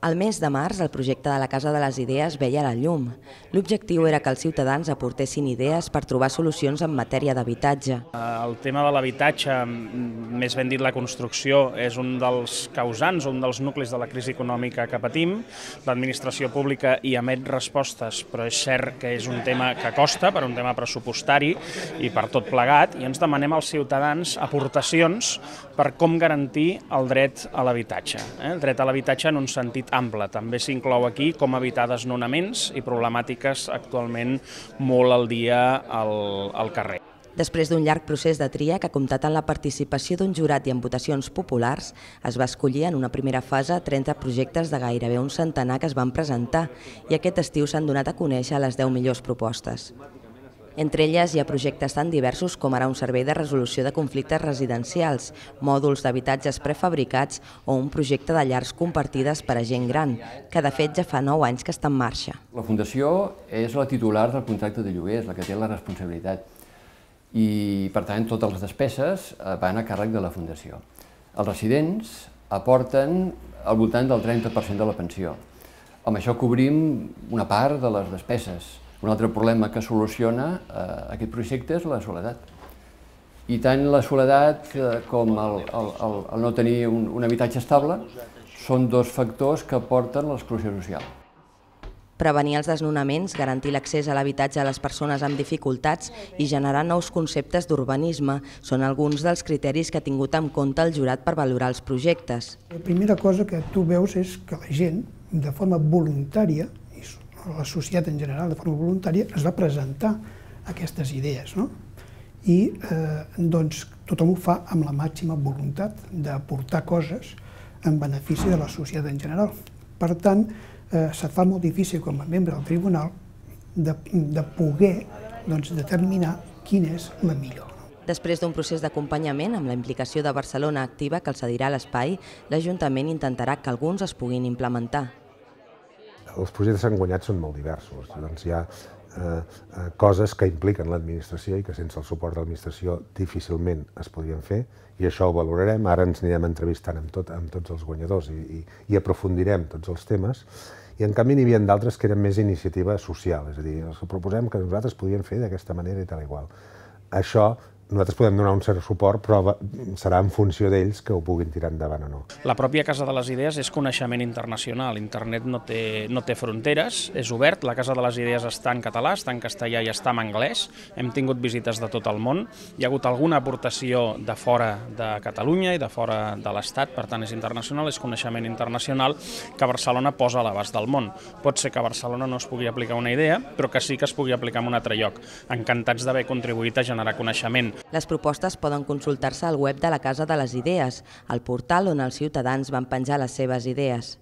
Al mes de març, el projecte de la Casa de les Idees veia la llum. L'objectiu era que els ciutadans aportessin idees per trobar solucions en matèria d'habitatge. El tema de l'habitatge, més ben dit la construcció, és un dels causants, un dels nuclis de la crisi econòmica que patim. L'administració pública hi emet respostes, però és cert que és un tema que costa, per un tema pressupostari i per tot plegat, i ens demanem als ciutadans aportacions per com garantir el dret a l'habitatge. El dret a l'habitatge en un sentit ample. També s'inclou aquí com evitar desnonaments i problemàtiques actualment molt al dia al carrer. Després d'un llarg procés de tria que ha comptat amb la participació d'un jurat i en votacions populars, es va escollir en una primera fase 30 projectes de gairebé un centenar que es van presentar i aquest estiu s'han donat a conèixer les 10 millors propostes. Entre elles hi ha projectes tan diversos com ara un servei de resolució de conflictes residencials, mòduls d'habitatges prefabricats o un projecte de llars compartides per a gent gran, que de fet ja fa 9 anys que està en marxa. La Fundació és la titular del contracte de lloguer, és la que té la responsabilitat i, per tant, totes les despeses van a càrrec de la Fundació. Els residents aporten al voltant del 30% de la pensió. Amb això cobrim una part de les despeses. Un altre problema que soluciona aquest projecte és la soledat. I tant la soledat com el no tenir un habitatge estable són dos factors que porten a l'exclusió social. Prevenir els desnonaments, garantir l'accés a l'habitatge a les persones amb dificultats i generar nous conceptes d'urbanisme són alguns dels criteris que ha tingut en compte el jurat per valorar els projectes. La primera cosa que tu veus és que la gent, de forma voluntària, la societat en general de forma voluntària, es va presentar aquestes idees. I tothom ho fa amb la màxima voluntat d'aportar coses en benefici de la societat en general. Per tant, se't fa molt difícil com a membre del tribunal de poder determinar quina és la millor. Després d'un procés d'acompanyament amb la implicació de Barcelona Activa que els cedirà l'espai, l'Ajuntament intentarà que alguns es puguin implementar. Els projectes enguanyats són molt diversos. Hi ha coses que impliquen l'administració i que sense el suport de l'administració difícilment es podrien fer i això ho valorarem. Ara ens anirem entrevistant amb tots els guanyadors i aprofundirem tots els temes. I en canvi n'hi havia d'altres que eren més iniciativa social, és a dir, els que proposem que nosaltres podíem fer d'aquesta manera i tal igual. Això nosaltres podem donar un cert suport, però serà en funció d'ells que ho puguin tirar endavant o no. La pròpia Casa de les Idees és coneixement internacional. Internet no té fronteres, és obert. La Casa de les Idees està en català, està en castellà i està en anglès. Hem tingut visites de tot el món. Hi ha hagut alguna aportació de fora de Catalunya i de fora de l'Estat, per tant és internacional, és coneixement internacional que Barcelona posa a l'abast del món. Pot ser que a Barcelona no es pugui aplicar una idea, però que sí que es pugui aplicar en un altre lloc. Encantats d'haver contribuït a generar coneixement. Les propostes poden consultar-se al web de la Casa de les Idees, al portal on els ciutadans van penjar les seves idees.